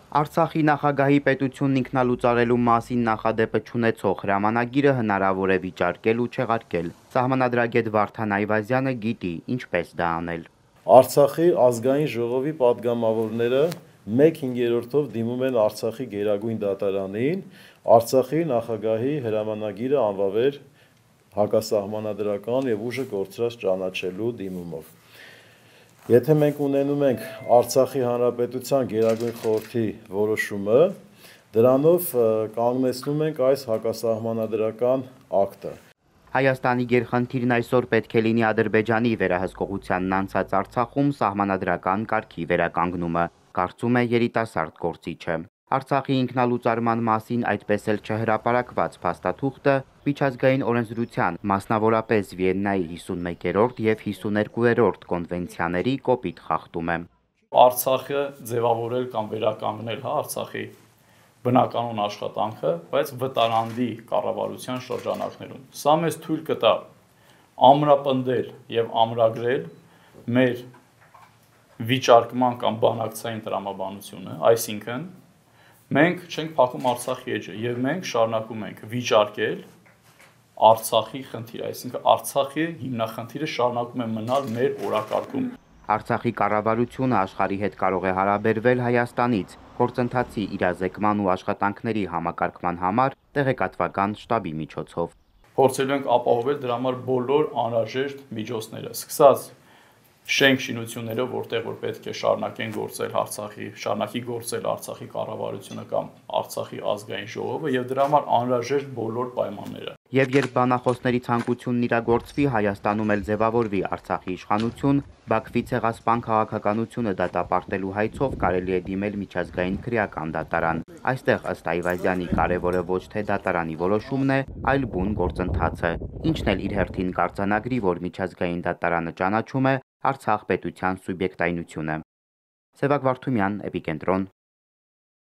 Արցախի նախագահի պետությունն ինքնալուծարելու մասին նախադեպը չունեցող հրամանագիրը հնարավոր է վիճարկել ու չեղարկել։ Սահմանադրագետ Վարդան Այվազյանը գիտի ինչպես դա անել։ Արցախի ազգային ժողովի падգամավորները 1/5-ով դիմում են Արցախի գերագույն դատարանին Արցախի նախագահի հրամանագիրը անվավեր հակասահմանադրական եւ ուժը կորցրած ճանաչելու դիմումով։ Եթե մենք ունենում ենք Արցախի Հանրապետության Գերագույն խորհրդի որոշումը, դրանով կանգնեցնում ենք այս հակասահմանադրական ակտը։ Հայաստանի գերխնդիրն այսօր պետք է լինի Ադրբեջանի վերահսկողությանն անցած Արցախում սահմանադրական կարգի վերականգնումը, կարծում է երիտասարդ գործիչը։ Արցախի ինքնալուծարման մասին այդպես էլ չհրապարակված փաստաթուղթը միջազգային օրենսդրության, մասնավորապես Վիեննայի 51-րդ եւ 52-րդ կոնվենցիաների կոպիտ խախտում է։ Արցախը ձևավորել կամ վերականգնել Արցախի բնականոն աշխատանքը, բայց վտարանդի կառավարության շրջանակներում։ Սա մեզ թույլ կտա ամրապնդել եւ ամրագրել մեր վիճարկման կամ բանակցային տրամաբանությունը, այսինքն մենք չենք փակում Արցախի էջը եւ մենք շարունակում ենք վիճարկել Արցախի խնդիրը, այսինքն Արցախի հիմնախնդիրը շարունակում է մնալ մեր օրակարգում։ Արցախի կառավարությունը աշխարհի հետ կարող է հարաբերվել Հայաստանից գործընթացի իրազեկման ու աշխատանքների համակարգման համար տեղեկատվական շտաբի միջոցով։ Փորձելու ենք ապահովել դրա համար բոլոր անհրաժեշտ միջոցները, սկսած շենք շինություններով, որտեղ որ պետք է շարունակեն գործել շարունակի գործել Արցախի կառավարությունը կամ Արցախի ազգային ժողովը եւ դրա համար անհրաժեշտ բոլոր պայմանները։ Եվ երբ բանախոսների ցանկությունն իրագործվի, Հայաստանում էլ ձևավորվի Արցախի իշխանություն, Բաքվի ցեղասպան քաղաքականությունը դատապարտելու հայցով կարելի է դիմել միջազգային քրեական դատարան։ Այստեղ ըստ Այվազյանի կարևորը ոչ թե դատարանի որոշումն է, այլ բուն գործընթացը, ինչն էլ իր հերթին կարձանագրի, որ միջազգային դատարանը ճանաչում է Արցախ պետության սուբյեկտայնությունը։ Սևակ Վարդումյան, Էպիկենտրոն,